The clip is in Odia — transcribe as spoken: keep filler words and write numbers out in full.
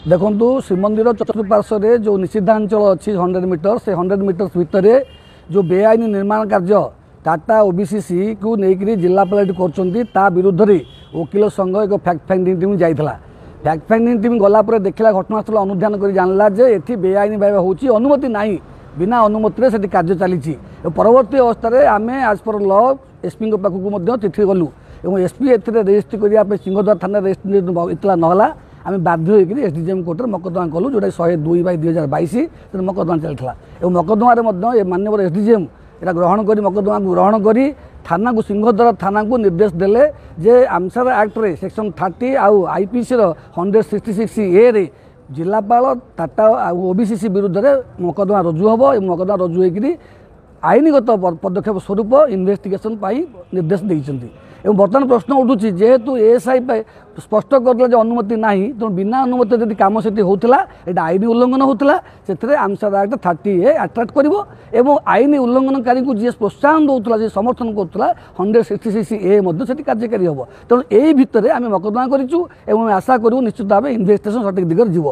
ଦେଖନ୍ତୁ, ଶ୍ରୀମନ୍ଦିର ଚତୁଃପାର୍ଶ୍ୱରେ ଯେଉଁ ନିଷିଦ୍ଧାଞ୍ଚଳ ଅଛି ହଣ୍ଡ୍ରେଡ଼ ମିଟର, ସେ ହଣ୍ଡ୍ରେଡ଼ ମିଟର୍ସ ଭିତରେ ଯେଉଁ ବେଆଇନ ନିର୍ମାଣ କାର୍ଯ୍ୟ ଟାଟା ଓବିସିସିକୁ ନେଇକରି ଜିଲ୍ଲାପାଳ ଏଠି କରୁଛନ୍ତି, ତା ବିରୁଦ୍ଧରେ ଓକିଲ ସଂଘ ଏକ ଫ୍ୟାକ୍ଟ ଫାଇଣ୍ଡିଂ ଟିମ୍ ଯାଇଥିଲା। ଫ୍ୟାକ୍ଟ ଫାଇଣ୍ଡିଂ ଟିମ୍ ଗଲା ପରେ ଦେଖିଲା, ଘଟଣାସ୍ଥଳ ଅନୁଧ୍ୟାନ କରି ଜାଣିଲା ଯେ ଏଠି ବେଆଇନ ଭାବେ ହେଉଛି, ଅନୁମତି ନାହିଁ, ବିନା ଅନୁମତିରେ ସେଠି କାର୍ଯ୍ୟ ଚାଲିଛି। ଏବଂ ପରବର୍ତ୍ତୀ ଅବସ୍ଥାରେ ଆମେ ଆଜ୍ ପର୍ ଲ ଏସ୍ପିଙ୍କ ପାଖକୁ ମଧ୍ୟ ଚିଠି ଗଲୁ ଏବଂ ଏସ୍ପି ଏଥିରେ ରେଜିଷ୍ଟ୍ରି କରିବା ପାଇଁ ସିଂହଦ୍ୱାର ଥାନାରେ ରେଜିଷ୍ଟ୍ରି ଏତଲା ନହେଲା, ଆମେ ବାଧ୍ୟ ହୋଇକରି ଏସ୍ ଡି ଜେ ଏମ୍ କୋର୍ଟରେ ମକଦ୍ଦମା କଲୁ, ଯେଉଁଟା ଶହେ ଦୁଇ ବାଇ ଦୁଇ ହଜାର ବାଇଶ। ତେଣୁ ମକଦ୍ଦମା ଚାଲିଥିଲା ଏବଂ ମକଦ୍ଦମାରେ ମଧ୍ୟ ଏ ମାନ୍ୟବର ଏସ୍ ଡି ଜି ଏମ୍ ଏଟା ଗ୍ରହଣ କରି, ମକଦ୍ଦମାକୁ ଗ୍ରହଣ କରି ଥାନାକୁ, ସିଂହଦ୍ୱାର ଥାନାକୁ ନିର୍ଦ୍ଦେଶ ଦେଲେ ଯେ ଆମସାର ଆକ୍ଟରେ ସେକ୍ସନ୍ ଥାର୍ଟି ଆଉ ଆଇପିସିର ହଣ୍ଡ୍ରେଡ଼ ସିକ୍ସଟି ସିକ୍ସ ଏରେ ଜିଲ୍ଲାପାଳ ଟାଟା ଆଉ ଓବିସିସି ବିରୁଦ୍ଧରେ ମକଦ୍ଦମା ରୁଜୁ ହେବ ଏବଂ ମକଦ୍ଦମା ରୁଜୁ ହୋଇକରି ଆଇନଗତ ପଦକ୍ଷେପ ସ୍ୱରୂପ ଇନଭେଷ୍ଟିଗେସନ୍ ପାଇଁ ନିର୍ଦ୍ଦେଶ ଦେଇଛନ୍ତି। ଏବଂ ବର୍ତ୍ତମାନ ପ୍ରଶ୍ନ ଉଠୁଛି, ଯେହେତୁ ଏଏସ୍ଆଇ ସ୍ପଷ୍ଟ କରିଦେଲା ଯେ ଅନୁମତି ନାହିଁ, ତେଣୁ ବିନା ଅନୁମତି ଯଦି କାମ ସେଠି ହେଉଥିଲା, ଏଇଟା ଆଇନ ଉଲ୍ଲଂଘନ ହେଉଥିଲା। ସେଥିରେ ଆମସାର ଆକ୍ଟ ଥାର୍ଟି ଏ ଆଟ୍ରାକ୍ଟ କରିବ ଏବଂ ଆଇନ ଉଲ୍ଲଂଘନକାରୀଙ୍କୁ ଯିଏ ପ୍ରୋତ୍ସାହନ ଦେଉଥିଲା, ଯିଏ ସମର୍ଥନ କରୁଥିଲା, ହଣ୍ଡ୍ରେଡ଼ ସିକ୍ସଟି ସିକ୍ସ ଏ ମଧ୍ୟ ସେଠି କାର୍ଯ୍ୟକାରୀ ହେବ। ତେଣୁ ଏଇ ଭିତରେ ଆମେ ମକଦ୍ଦମା କରିଛୁ ଏବଂ ଆମେ ଆଶା କରିବୁ ନିଶ୍ଚିତ ଭାବେ ଇନଭେଷ୍ଟିଗେସନ୍ ସଠିକ୍ ଦିଗରେ ଯିବ।